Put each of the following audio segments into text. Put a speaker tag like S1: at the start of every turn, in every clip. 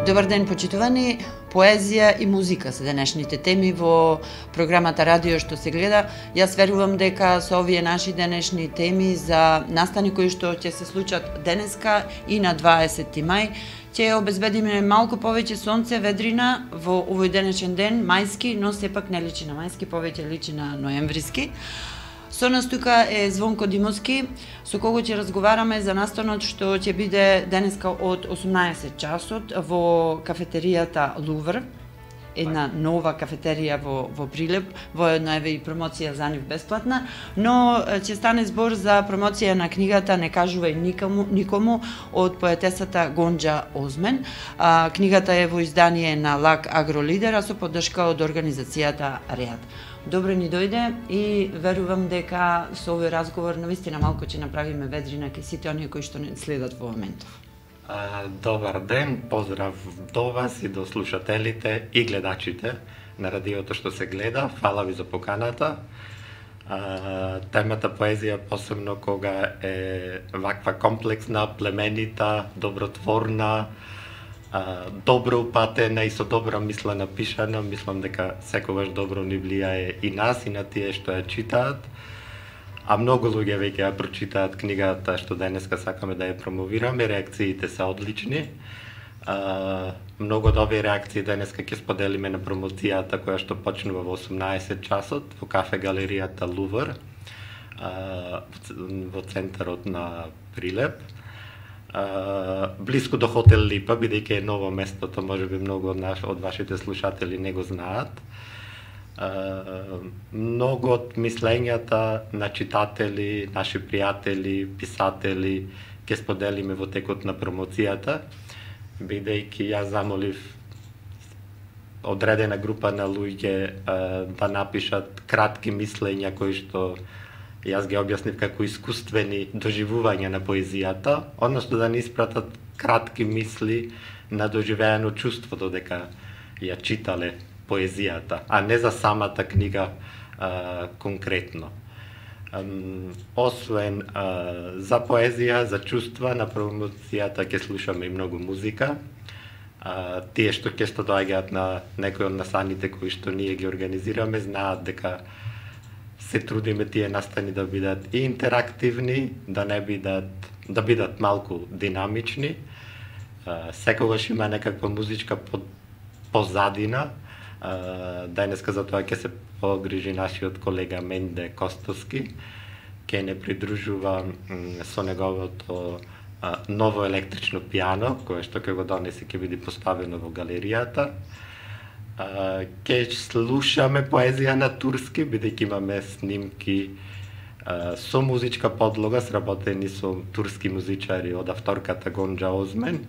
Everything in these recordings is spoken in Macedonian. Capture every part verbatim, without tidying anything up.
S1: Добар ден, почитувани. Поезија и музика се денешните теми во програмата Радио што се гледа. Јас верувам дека со овие наши денешни теми за настани кои што ќе се случат денеска и на дваесети мај, ќе обезбедиме малку повеќе сонце, ведрина во овој денешен ден, мајски, но сепак не личи на мајски, повеќе личи на ноемвриски. Со нас тука е Звонко Димовски, со кого ќе разговараме за настанот што ќе биде денеска од осумнаесет часот во кафетеријата Лувр, една нова кафетерија во, во Прилеп, во една еве и промоција за нив бесплатна, но ќе стане збор за промоција на книгата Не кажувај никому, никому од поетесата Гонџа Озмен. А, книгата е во издание на Лак Агролидер, а со поддршка од организацијата РЕАД. Добро ни дојде и верувам дека со овој разговор навистина малку ќе направиме ведрина кај сите оние кои што не следат во моментов.
S2: А, добар ден, поздрав до вас и до слушателите и гледачите на радиото што се гледа. Фала ви за поканата. А, темата поезија, посебно кога е ваква комплексна, племенита, добротворна, Uh, добро упатена и со добра мисла напишана, мислам дека секогаш добро ни влијае и нас и на тие што ја читаат. А многу луѓе веќе ја прочитаат книгата што денеска сакаме да ја промовираме, реакциите се одлични. Uh, многу од овие реакции денеска ќе споделиме на промоцијата која што почнува во осумнаесет часот во кафе галеријата Лувр, uh, во центарот на Прилеп. Uh, блиску до хотел Липа, бидејќи е ново местото, можеби многу од наш, од вашите слушатели не го знаат. Uh, многу од мислењата на читатели, наши пријатели, писатели ќе споделиме во текот на промоцијата, бидејќи јас замолив одредена група на луѓе uh, да напишат кратки мислења кои што јас ги објаснив како искуствени доживувања на поезијата, односно да ни испратат кратки мисли на доживеано чувство додека ја читале поезијата, а не за самата книга а, конкретно. Um, освен а, за поезија, за чувства, на промоцијата ќе слушаме и многу музика. А, тие што ќе што доаѓаат на некои од настаните кои што ние ги организираме, знаат дека се трудиме тие настани да бидат и интерактивни, да не бидат, да бидат малку динамични. Секогаш има некаква музичка позадина. Денеска за тоа ќе се погрижи нашиот колега Менде Костовски, ќе не придружува со неговото ново електрично пијано, кое што ќе го донесе ќе биде поставено во галеријата. Uh, ке слушаме поезија на турски, бидејќи имаме снимки uh, со музичка подлога, сработени со турски музичари од авторката Гонџа Озмен,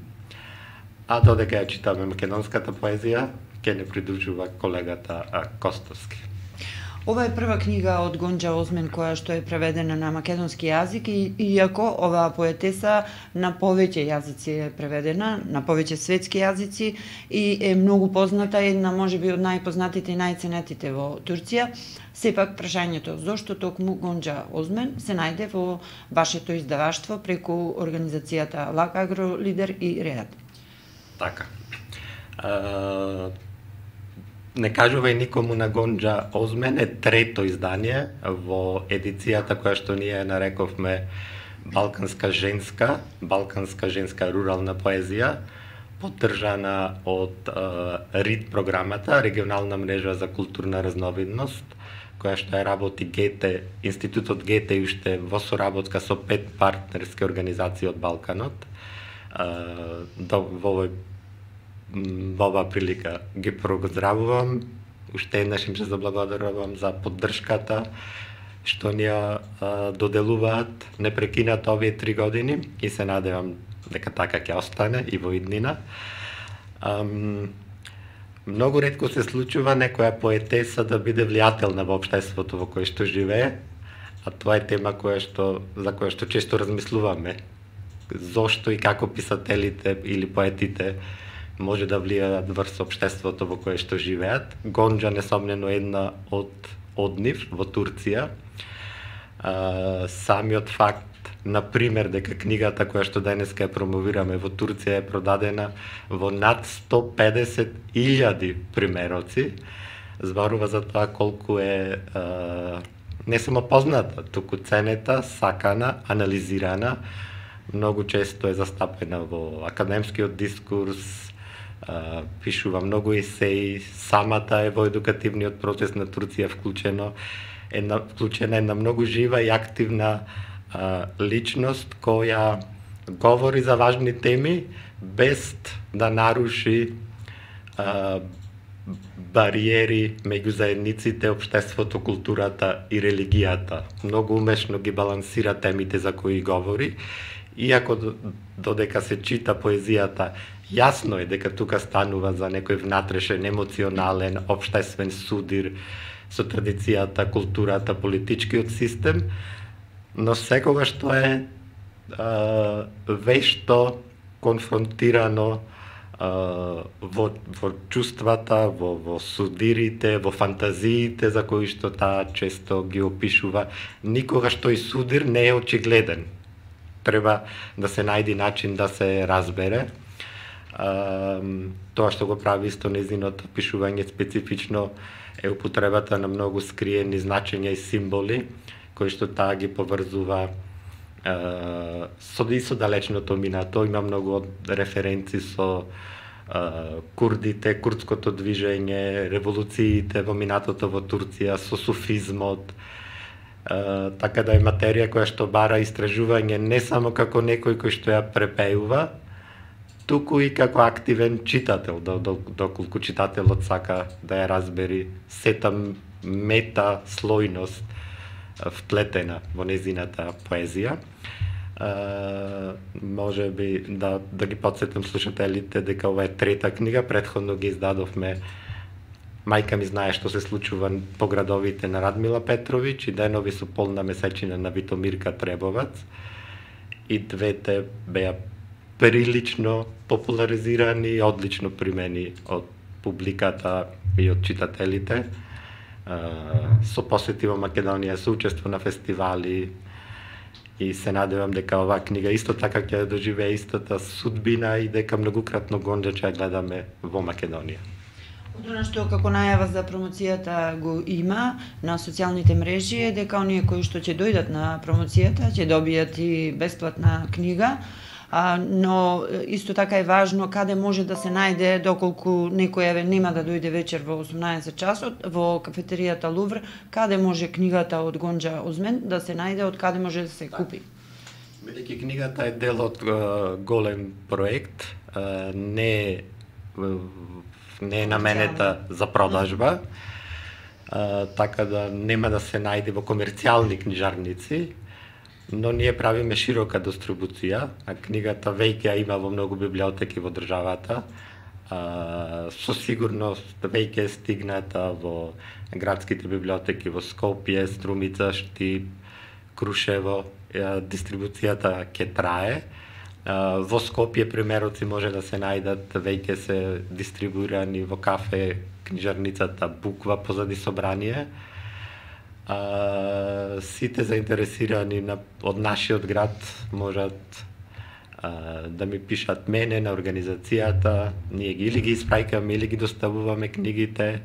S2: а додека ја читаме македонската поезија, ке не придружува колегата uh, Костовски.
S1: Ова е прва книга од Гонџа Озмен која што е преведена на македонски јазик и иако оваа поетеса на повеќе јазици е преведена, на повеќе светски јазици и е многу позната, една можеби од најпознатите и најценетите во Турција, сепак прашањето зошто токму Гонџа Озмен се најде во вашето издаваштво преку организацијата Лак Агролидер и РЕАД.
S2: Така. Uh... Не кажувај никому на Гонџа Озмен е трето издание во едицијата која што ние нарековме Балканска женска, Балканска женска рурална поезија, поддржана од е, РИД програмата, регионална мрежа за културна разновидност, која што е работи Гете, Институтот Гете уште во соработка со пет партнерски организации од Балканот. Е, до, во овој Во оваа прилика ги поздравувам, уште еднаш им се заблагодарувам за поддршката што ни ја доделуваат непрекинато овие три години и се надевам дека така ќе остане и во иднина. Um, многу ретко се случува некоја поетеса да биде влијателна во општеството во кое што живее, а тоа е тема која што, за која што често размислуваме. Зошто и како писателите или поетите може да влијаат врз општеството во кое што живеат. Гонџа несомнено една од од нив во Турција. А, самиот факт на пример дека книгата која што денеска ја промовираме во Турција е продадена во над сто педесет илјади примероци, зборува за тоа колку е а, не само позната, туку ценета, сакана, анализирана, многу често е застапена во академскиот дискурс, а, пишува многу есеи, самата е во едукативниот процес на Турција вклучено, една, вклучена една многу жива и активна а, личност која говори за важни теми без да наруши а, бариери меѓу заедниците, општеството, културата и религијата. Многу умешно ги балансира темите за кои говори, иако додека се чита поезијата, јасно е дека тука станува за некој внатрешен, емоционален, општествен судир со традицијата, културата, политичкиот систем, но секогаш тоа е а, вешто конфронтирано во, во чувствата, во, во судирите, во фантазиите за кои што таа често ги опишува. Никогаш тој судир не е очигледен. Треба да се најди начин да се разбере. А, тоа што го прави исто нејзиното пишување специфично е употребата на многу скриени значења и символи, кои што таа ги поврзува Uh, со и со далечното минато. Има многу референци со uh, курдите, курдското движење, револуциите во минатото во Турција, со суфизмот. Uh, така да е материја која што бара истражување не само како некој кој што ја препеува, туку и како активен читател, доколку читателот сака да ја разбери сета мета слојност вплетена во незината поезија. Uh, може би да, да ги подсетам слушателите дека ова е трета книга, претходно ги издадовме Мајка ми знае што се случува по градовите на Радмила Петровиќ и Денови со полна месечина на Витомирка Требовац. И двете беа прилично популаризирани и одлично примени од публиката и од читателите. Uh, со посети во Македонија, со учество на фестивали, и се надевам дека оваа книга исто така ќе доживее истата судбина и дека многукратно Гонџа ќе ја гледаме во Македонија.
S1: Од она што како најава за промоцијата го има на социјалните мрежи е дека оние кои што ќе дојдат на промоцијата ќе добијат и бесплатна книга, а, но исто така е важно каде може да се најде доколку некој еве нема да дојде вечер во осумнаесет часот во кафетеријата Лувр, каде може книгата од Гонџа Озмен да се најде, од каде може да се купи.
S2: Бидејќи книгата е дел од uh, голем проект, uh, не не е наменета за продажба, uh, така да нема да се најде во комерцијални книжарници, но ние правиме широка дистрибуција, а книгата веќе ја има во многу библиотеки во државата. А, со сигурност веќе е стигната во градските библиотеки во Скопје, Струмица, Штип, Крушево. Дистрибуцијата ќе трае. А, во Скопје примероци може да се најдат, веќе се дистрибуирани во кафе книжарницата Буква позади собрание. А, сите заинтересирани на, од нашиот град можат а, да ми пишат мене на организацијата, ние ги или ги испраќаме или ги доставуваме книгите.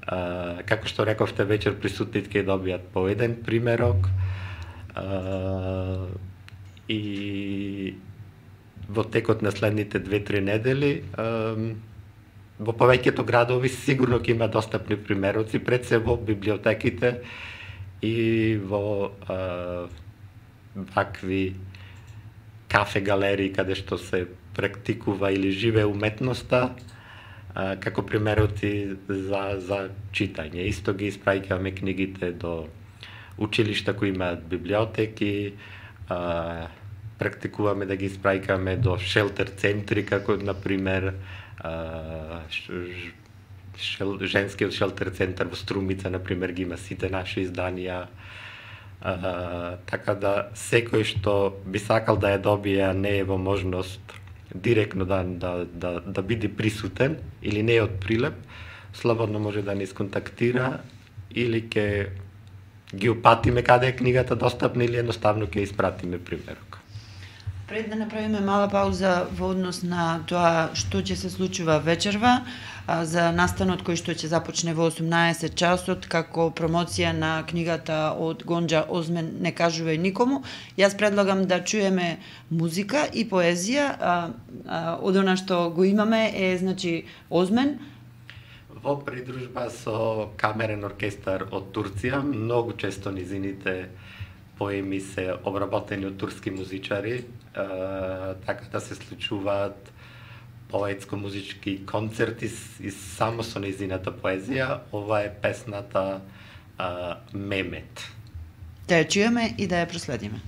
S2: А, како што рековте, вечер присутните ќе добијат по еден примерок. А, и во текот на следните две-три недели а, во повеќето градови сигурно ќе има достапни примероци, пред се во библиотеките и во а, вакви кафе галерии каде што се практикува или живее уметноста, а, како примероци за, за читање. Исто ги испраќаме книгите до училишта кои имаат библиотеки, а, практикуваме да ги испраќаме до шелтер центри, како например а, шел, женскиот шелтер центар во Струмица, например, ги има сите наши изданија. А, така да секој што би сакал да ја добие, не е во можност директно да, да, да, да биде присутен или не е од Прилеп, слободно може да ни сконтактира или ќе ги упатиме каде е книгата достапна или едноставно ќе испратиме примерок.
S1: Пред да направиме мала пауза во однос на тоа што ќе се случува вечерва, за настанот кој што ќе започне во осумнаесет часот како промоција на книгата од Гонџа Озмен "Не кажувај никому", јас предлагам да чуеме музика и поезија. А, а, од она што го имаме е, значи, Озмен
S2: во придружба со камерен оркестар од Турција. Многу често низините поеми се обработени од турски музичари, така да се случуваат поетско-музички концерти и само со низината поезија. Ова е песната а, Мемет.
S1: Да ја чуеме и да ја проследиме.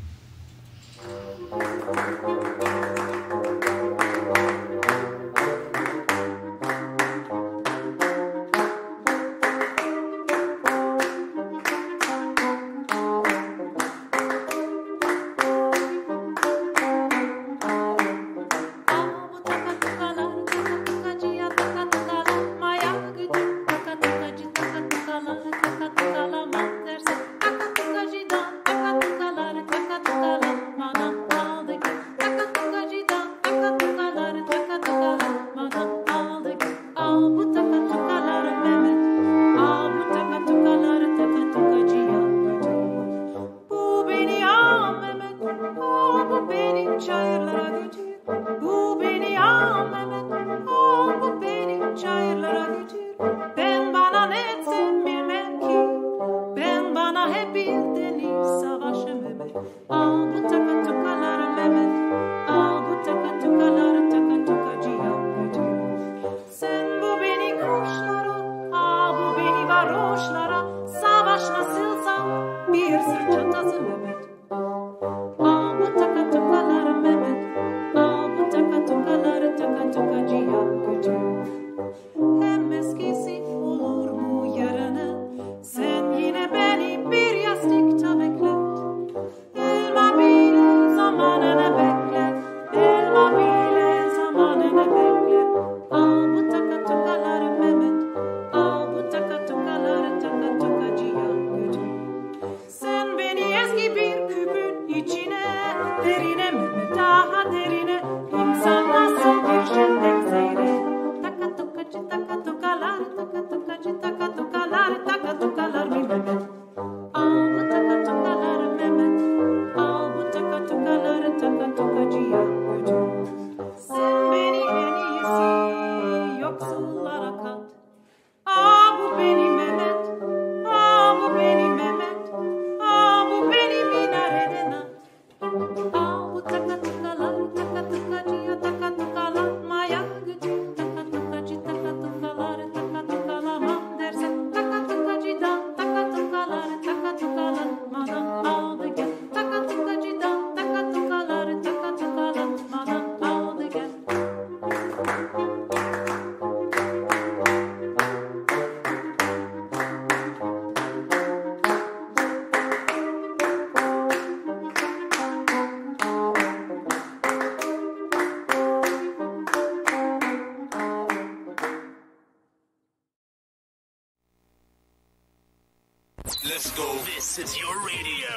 S3: Let's go. This is your radio,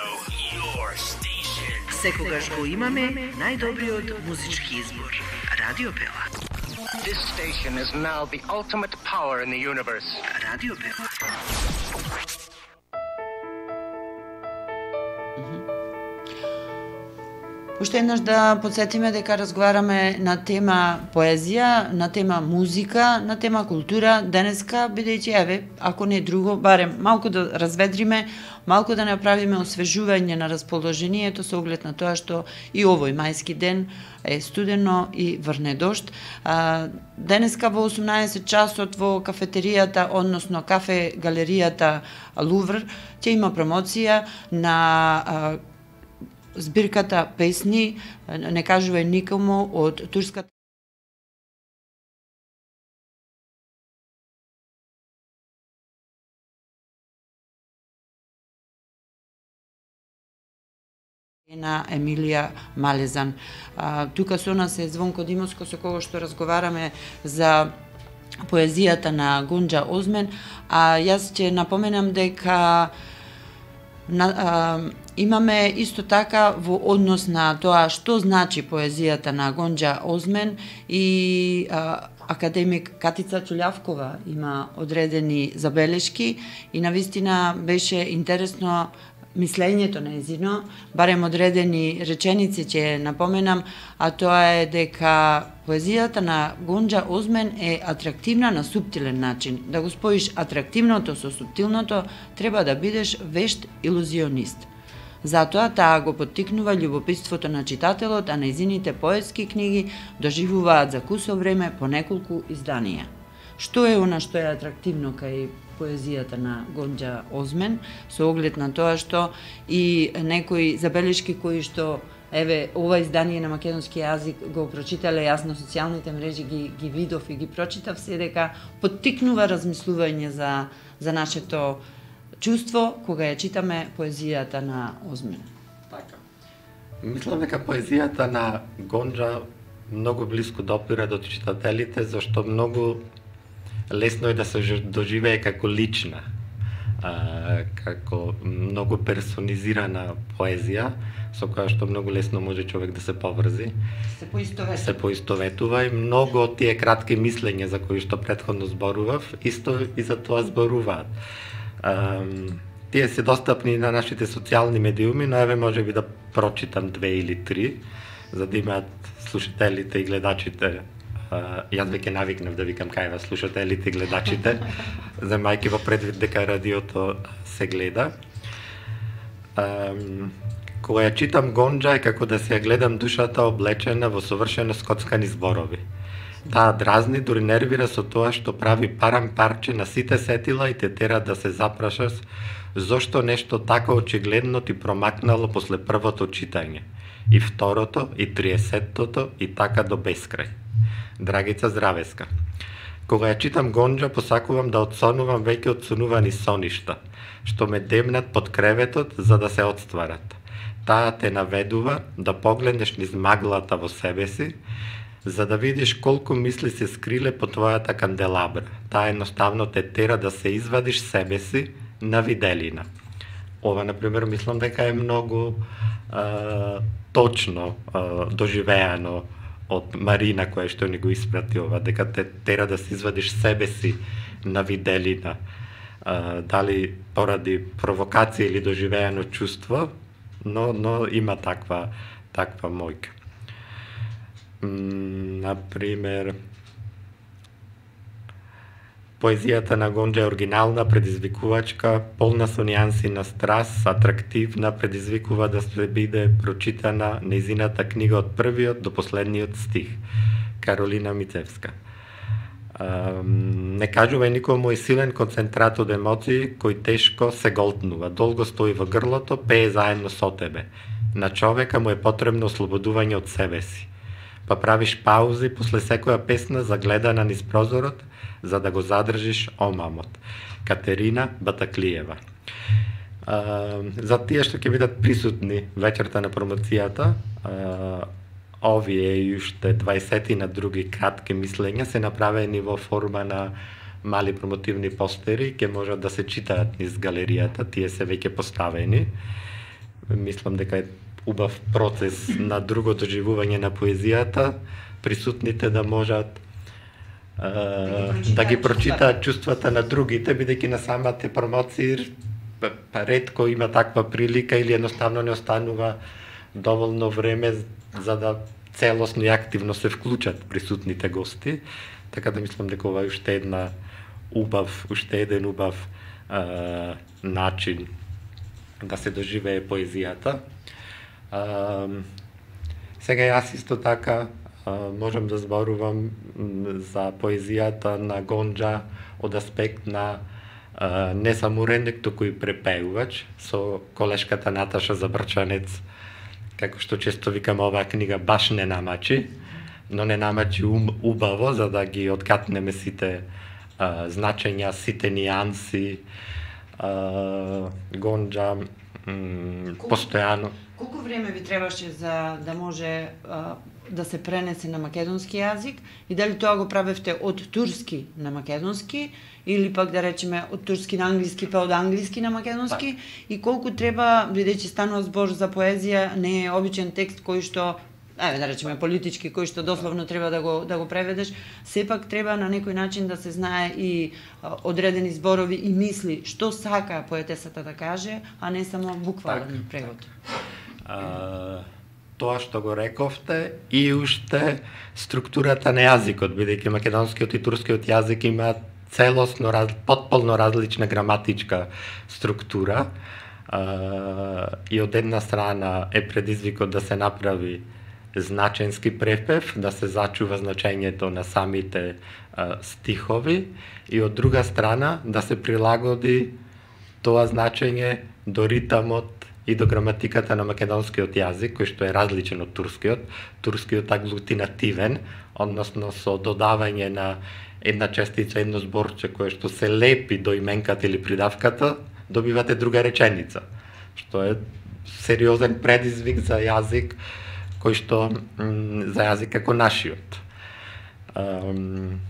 S3: your station.
S4: Секогаш го имаме најдобриот музички избор. Радио Пела.
S5: This station is now the ultimate power in the universe.
S4: Радио Пела.
S1: Уште еднаш да подсетиме дека разговараме на тема поезија, на тема музика, на тема култура денеска, бидејќи еве, ако не друго, барем малку да разведриме, малку да направиме освежување на расположението со оглед на тоа што и овој мајски ден е студено и врне дожд. А, денеска во осумнаесет часот во кафетеријата, односно кафе галеријата Лувр, ќе има промоција на а, збирката песни "Не кажувај никому" од турската на Емилија Малезан. А, тука со нас е Звонко Димовско, со кого што разговараме за поезијата на Гонџа Озмен, а јас ќе напоменам дека На, а, имаме исто така во однос на тоа што значи поезијата на Гонџа Озмен и а, академик Катица Чулјавкова има одредени забелешки и навистина беше интересно мислењето нејзино, барем одредени реченици ќе напоменам, а тоа е дека поезијата на Гонџа Озмен е атрактивна на суптилен начин. Да го споиш атрактивното со суптилното, треба да бидеш вешт илузионист. Затоа таа го поттикнува љубопитството на читателот, а нејзините поетски книги доживуваат за кусо време по неколку изданија. Што е она што е атрактивно кај поезијата на Гонџа Озмен, со оглед на тоа што и некои забелешки кои што еве ова издание на македонски јазик го прочитале, јас на социјалните мрежи ги ги видов и ги прочитав, се дека поттикнува размислување за за нашето чувство кога ја читаме поезијата на Озмен.
S2: Така. Мислам дека поезијата на Гонџа многу блиску допира до читателите, зашто многу лесно е да се доживее како лична, а, како многу персонизирана поезија, со која што многу лесно може човек да се поврзи.
S1: Се поистоветува.
S2: Се поистоветува и многу од тие кратки мислења за кои што претходно зборував, исто и за тоа зборуваат. А, тие се достапни на нашите социјални медиуми, но еве може би да прочитам две или три, за да имаат слушателите и гледачите. Uh, јас веќе навикнав да викам кај вас слушателите и гледачите, земајќи во предвид дека радиото се гледа. Um, кога ја читам Гонџа е како да се ја гледам душата облечена во совршено скоцкани зборови. Таа дразни, дури нервира со тоа што прави парам парче на сите сетила и те тера да се запрашаш зошто нешто така очигледно ти промакнало после првото читање, и второто, и триесеттото, и така до бескрај. Драгица Здравеска. Кога ја читам Гонџа, посакувам да одсонувам веќе одсонувани соништа, што ме демнат под креветот за да се одстварат. Таа те наведува да погледнеш низ маглата во себе си, за да видиш колку мисли се скриле по твојата канделабра. Таа едноставно те тера да се извадиш себе си на виделина. Ова, например, мислам дека е многу а, точно а, доживеано од Марина, која што ни го испрати ова, дека те тера да се извадиш себе си на виделина, а, дали поради провокација или доживеано чувство, но, но има таква, таква мојка. Например, поезијата на Гонџа е оригинална, предизвикувачка, полна со нијанси на страст, атрактивна, предизвикува да се биде прочитана нејзината книга од првиот до последниот стих. Каролина Мицевска. Не кажува никому е силен концентрат од емоции кој тешко се голтнува, долго стои во грлото, пее заедно со тебе. На човека му е потребно ослободување од себе си. Па правиш паузи после секоја песна загледана низ прозорот, за да го задржиш омамот. Катерина Батаклиева. А, за тие што ќе бидат присутни вечерта на промоцијата, а, овие и уште дваесет на други кратки мислења се направени во форма на мали промотивни постери, ќе можат да се читаат низ галеријата, тие се веќе поставени. Мислам дека е убав процес на друго доживување на поезијата, присутните да можат Uh, да ги прочитаат чувствата на другите, бидејќи на самите промоции па ретко има таква прилика или едноставно не останува доволно време за да целосно и активно се вклучат присутните гости, така да мислам дека ова е уште една убав, уште еден убав uh, начин да се доживее поезијата. Uh, сега јас исто така Uh, можам да зборувам за поезијата на Гонџа од аспект на uh, не само уредник, туку и препеувач, со колешката Наташа Забрчанец, како што често викам, оваа книга баш не намачи, но не намачи ум, убаво, за да ги откатнеме сите uh, значења, сите нијанси. Uh, Гонџа м, постојано.
S1: Колку време ви требаше за да може а, да се пренесе на македонски јазик и дали тоа го правевте од турски на македонски или пак да речеме од турски на англиски па од англиски на македонски и колку треба, бидејќи станува збор за поезија, не е обичен текст кој што ајде да речеме политички, кој што дословно треба да го да го преведеш, сепак треба на некој начин да се знае и а, одредени зборови и мисли што сака поетесата да каже, а не само буквален превод.
S2: А, тоа што го рековте и уште структурата на јазикот, бидејќи македонскиот и турскиот јазик имаат целосно, раз, потполно различна граматичка структура. А, и од една страна е предизвикот да се направи значенски препев, да се зачува значењето на самите а, стихови и од друга страна да се прилагоди тоа значење до ритамот и до граматиката на македонскиот јазик, кој што е различен од турскиот. Турскиот аглутинативен, односно со додавање на една честица, едно зборче кое што се лепи до именката или придавката, добивате друга реченица, што е сериозен предизвик за јазик кој што м, за јазик како нашиот. Um,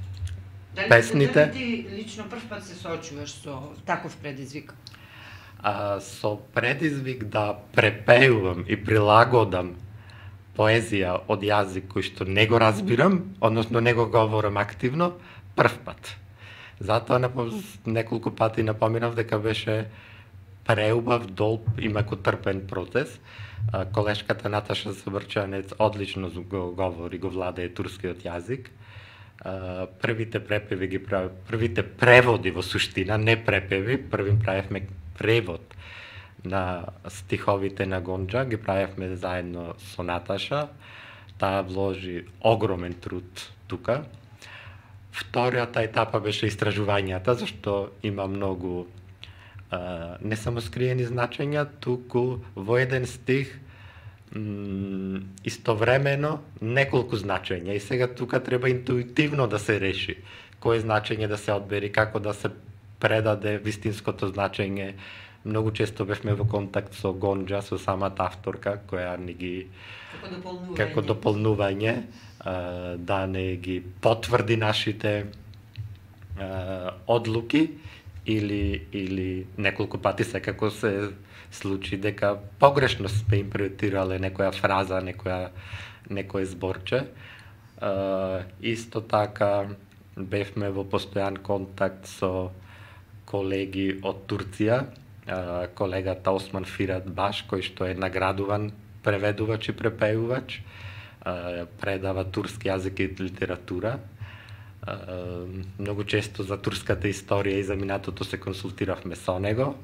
S1: Дали,
S2: песните...
S1: Дали ти лично прв пат се соочуваш со таков предизвик?
S2: А, со предизвик да препеувам и прилагодам поезија од јазик кој што не го разбирам, односно не го говорам активно, прв пат. Затоа неколку пати напоминав дека беше преубав, долг и макотрпен процес. А, колешката Наташа Заврчанец одлично го говори, го владее турскиот јазик. А, првите препеви ги прави, првите преводи во суштина, не препеви, првим правевме превод на стиховите на Гонџа, ги правевме заедно со Наташа. Таа вложи огромен труд тука. Вториот етапа беше истражувањата, зашто има многу а, не само скриени значења, туку во еден стих м, истовремено неколку значења и сега тука треба интуитивно да се реши кое значење да се одбери, како да се предаде вистинското значење. Многу често бевме во контакт со Гонџа, со самата авторка, која ни ги
S1: Како дополнување,
S2: како дополнување а, да не ги потврди нашите а, одлуки или или неколку пати секако се случи дека погрешно сме импретирале некоја фраза, некоја некој зборче. А, исто така бевме во постојан контакт со колеги од Турција, а, колегата Осман Фират Баш, кој што е наградуван преведувач и препеувач, а, предава турски јазик и литература. А, многу често за турската историја и за минатото се консултиравме со него.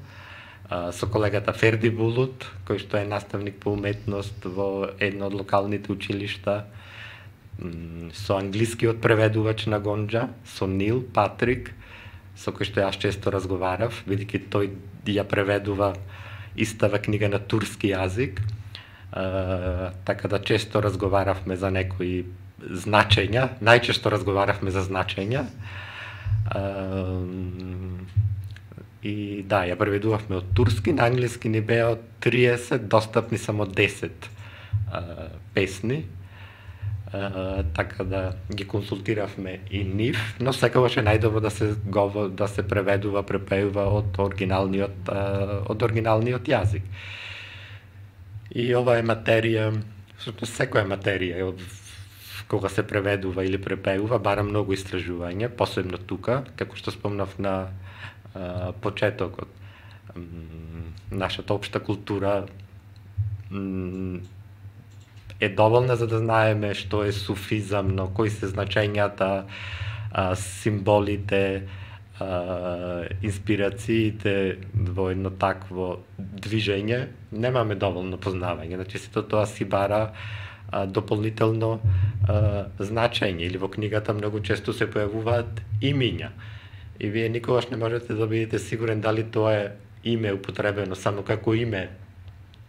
S2: А, со колегата Ферди Булут, кој што е наставник по уметност во едно од локалните училишта, со англискиот преведувач на Гонџа, со Нил Патрик, со кој што јас често разговарав, бидејќи тој ја преведува истава книга на турски јазик, а, така да често разговаравме за некои значења, најчесто разговаравме за значења. А, и да, ја преведувавме од турски, на англиски ни беа од триесет, достапни само десет а, песни. Uh, така да ги консултиравме и нив, но секогаш е најдобро да се говор, да се преведува, препеува од оригиналниот uh, од оригиналниот јазик. И ова е материја, всушност секоја материја од кога се преведува или препеува бара многу истражување, посебно тука, како што спомнав на uh, почетокот. Um, нашата општа култура um, е доволна за да знаеме што е суфизамно, кои се значењата, а, символите, а, инспирациите во едно такво движење. Немаме доволно познавање, значи сето тоа си бара а, дополнително а, значење. Или во книгата многу често се појавуваат имиња. И вие никогаш не можете да бидете сигурен дали тоа е име употребено само како име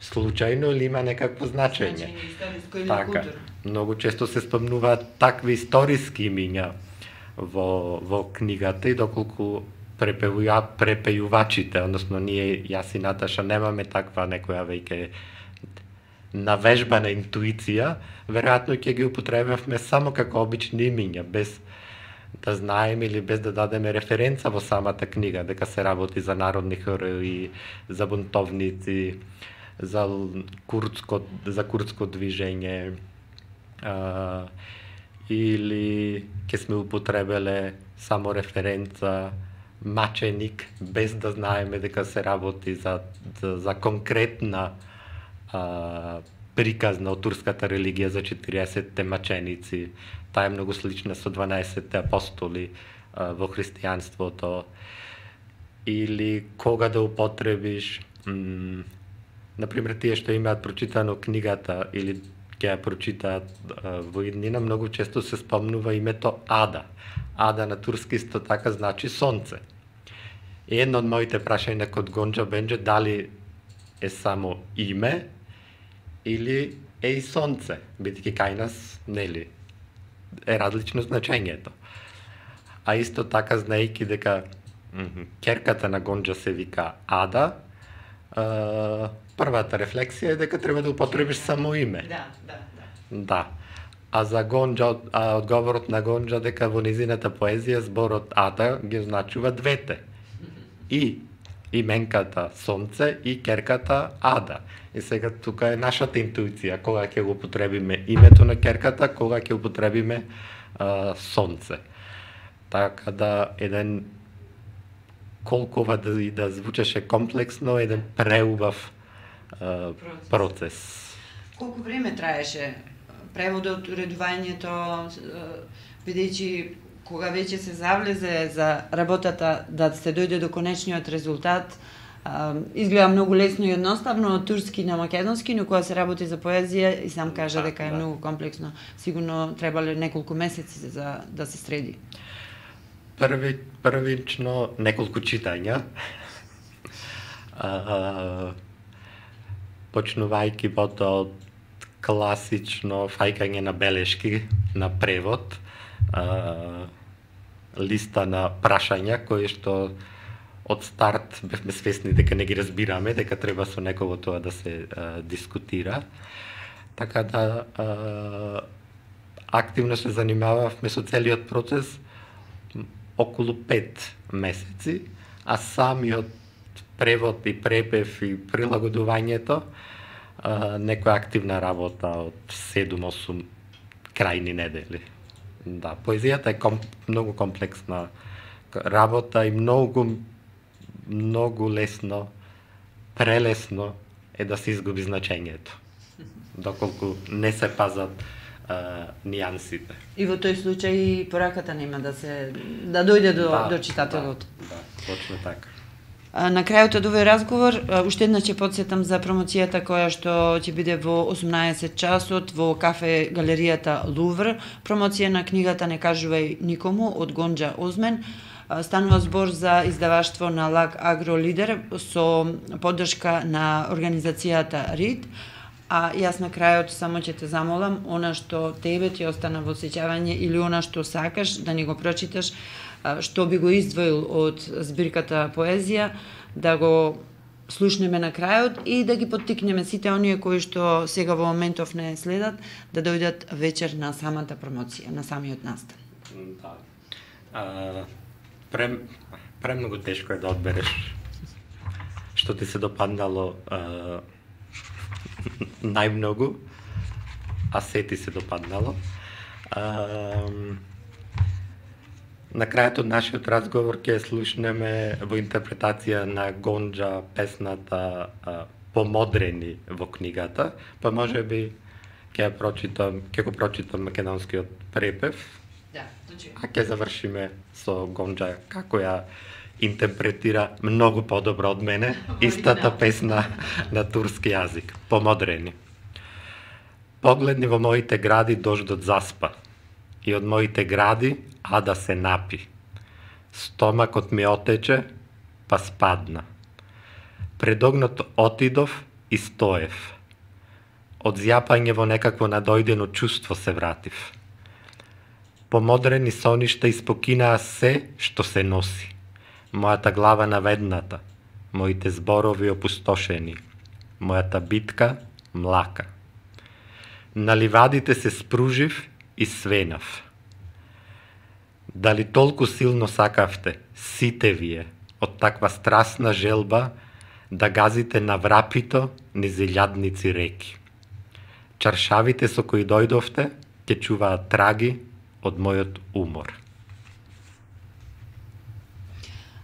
S2: случајно или има некакво значење.
S1: Значење,
S2: така, многу често се спомнуваат такви историски имиња во, во книгата и доколку препеуја, препејувачите, односно ние, јас и Наташа, немаме таква некоја веќе навежбана интуиција, веројатно ќе ги употребавме само како обични имиња, без да знаеме или без да дадеме референца во самата книга, дека се работи за народни херои, за бунтовници, за курдско, за курдско движење, а, или ќе сме употребеле само референца маченик, без да знаеме дека се работи за, за, за конкретна а, приказна од турската религија за четириесетте маченици. Таа е многу слична со дванаесетте апостоли а, во христијанството. Или кога да употребиш, м, например, тие што имаат прочитано книгата или ќе ја прочитаат а, во иднина, многу често се спомнува името Ада. Ада на турски исто така значи сонце. И едно од моите прашања код Гонџа бенџе дали е само име или е и сонце, бидејќи кај нас, нели, е различно значењето. А исто така, знаејќи дека керката на Гонџа се вика Ада, а, првата рефлексија е дека треба да употребиш само име.
S1: Да, да, да.
S2: Да. А за Гонџа, а одговорот на Гонџа дека во низината поезија зборот Ада ги означува двете. И именката сонце и керката Ада. И сега тука е нашата интуиција, кога ќе го употребиме името на керката, кога ќе употребиме а, сонце. Така да еден колкова да и да звучеше комплексно, еден преубав а, процес. процес.
S1: Колку време траеше преводот, уредувањето, бидејќи кога веќе се завлезе за работата да се дојде до конечниот резултат, изгледа многу лесно и едноставно од турски на македонски, но кога се работи за поезија и сам кажа дека е многу комплексно, сигурно требале неколку месеци за да се среди.
S2: Први, првично неколку читања, а, почнувајќи потоа од класично фајкање на белешки на превод, а, листа на прашања кои што од старт бевме свесни дека не ги разбираме, дека треба со некого тоа да се а, дискутира. Така да а, активно се занимававме со целиот процес околу пет месеци, а самиот превод и препев и прилагодувањето а, некоја активна работа од седум-осум крајни недели. Да, поезијата е комп, многу комплексна работа и многу многу лесно, прелесно е да се изгуби значењето, доколку не се пазат а, нијансите.
S1: И во тој случај пораката нема да се да дојде до
S2: да,
S1: до читателот.
S2: Да, да, точно така.
S1: На крајот од овој разговор, уште една ќе потсетам за промоцијата која што ќе биде во осумнаесет часот во кафе галеријата Лувр. Промоција на книгата Не кажувај никому од Гонџа Озмен. Станува збор за издаваштво на Лак Агро Лидер со поддршка на организацијата РИД. А јас на крајот само ќе те замолам, она што тебе ти остана во сеќавање или она што сакаш да ни го прочиташ, што би го издвоил од збирката поезија, да го слушнеме на крајот и да ги поттикнеме сите оние кои што сега во моментов не следат, да дојдат вечер на самата промоција, на самиот настан.
S2: Да. А, пре, премногу тешко е да одбереш што ти се допаднало а, најмногу, а се ти се допаднало. А, на крајот од нашиот разговор ќе слушнеме во интерпретација на Гонџа песната а, Помодрени во книгата, па може би ќе прочитам, ќе го прочитам македонскиот препев.
S1: Да, точно.
S2: А ќе завршиме со Гонџа како ја интерпретира многу подобро од мене истата песна на турски јазик. Помодрени. Погледни во моите гради дождот заспа и од моите гради Ада се напи. Стомакот ми отече, па спадна. Пред огнот отидов и стоев. Од зјапање во некакво надојдено чувство се вратив. Помодрени соништа испокинаа се што се носи. мојата глава наведната, моите зборови опустошени, мојата битка млака. На ливадите се спружив и свенав. Дали толку силно сакавте, сите вие, од таква страстна желба, да газите на врапито низ илјадници реки. Чаршавите со кои дојдовте, ќе чуваат траги од мојот умор.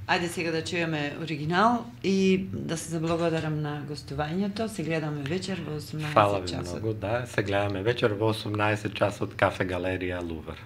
S1: Ајде сега да чуеме оригинал и да се заблагодарам на гостувањето. Се гледаме вечер во осумнаесет
S2: Фала ви
S1: часот.
S2: многу, да. Се гледаме вечер во осумнаесет часот Кафе Галерија Лувр.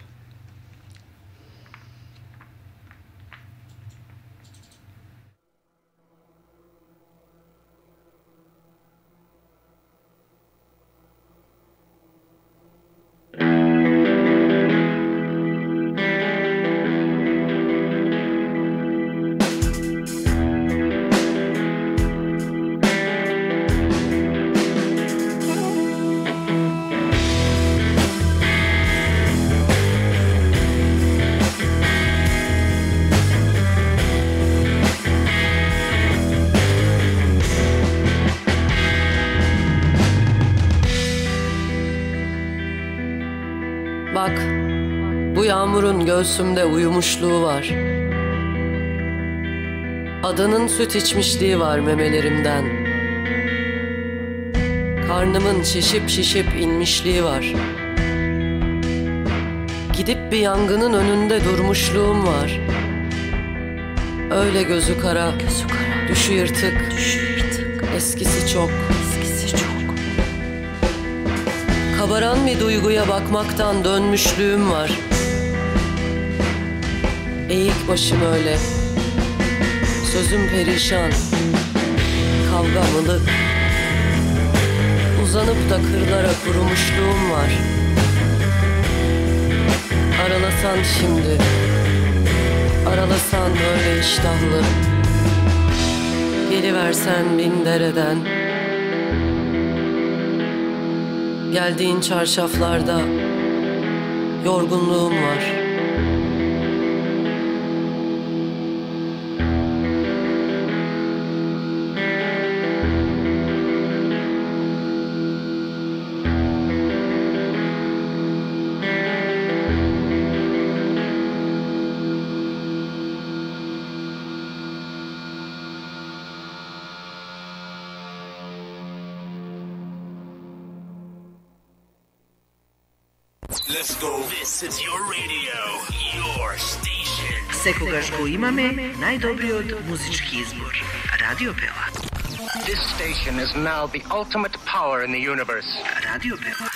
S6: Bak, bu yağmurun göğsümde uyumuşluğu var. Adanın süt içmişliği var memelerimden. Karnımın şişip şişip inmişliği var. Gidip bir yangının önünde durmuşluğum var. Öyle gözü kara, gözü kara. Düşü yırtık, düşü yırtık. Eskisi çok, eskisi çok. Kabaran bir duyguya bakmaktan dönmüşlüğüm var. Eğik başım öyle, sözüm perişan, kavga mılık. Uzanıp da kırlara kurumuşluğum var. Aralasan şimdi, aralasan öyle iştahlı. Geliversen bin dereden. Geldiğin çarşaflarda yorgunluğum var.
S3: Let's go. This is your radio, your station.
S4: Секогаш го имаме најдобриот музички избор. Радио Пела.
S5: This station is now the ultimate power in the universe.
S4: Радио Пела.